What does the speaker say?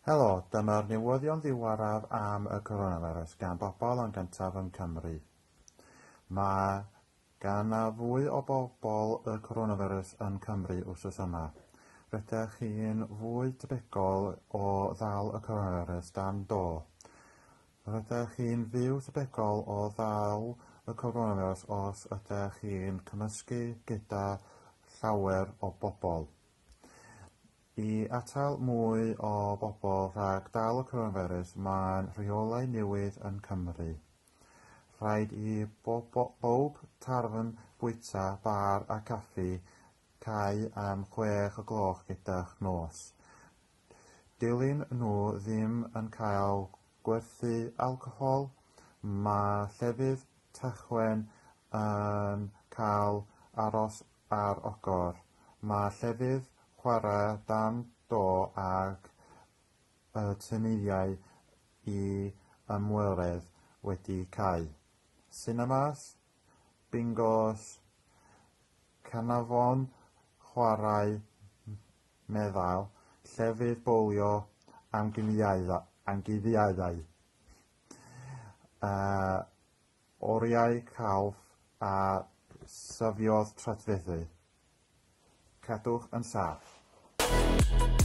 Helo, dyma'r newyddion ddiweddaraf am y coronavirus gan bobl yn gyntaf yn Cymru. Mae gan na fwy o bobl y coronavirus yn Cymru wythnos yma. Rydych chi'n fwy tebygol o ddal y coronavirus dan do. Rydych chi'n fyw tebygol o ddal y coronavirus os ydych chi'n cymysgu gyda llawer o bobl. I atal mwy o bobl rhag dal y coronavirus, mae'n rheolau newydd yn Cymru. Rhaid i bob tafarn, bwyta, bar a caffi cau am 6 o'r gloch gyda'r nos. Dilyn nhw ddim yn cael gwerthu alcohol, mae llefydd tachwen yn cael aros ar agor. Mae llefydd chwarae dan do ac y tyniau i ymwelwyr wedi cau. Sinemas, bingos, canolfan chwarae meddal, llefydd bowlio, amgueddfeydd, oriau celf a safleoedd treftadaeth. Cadwch yn saff.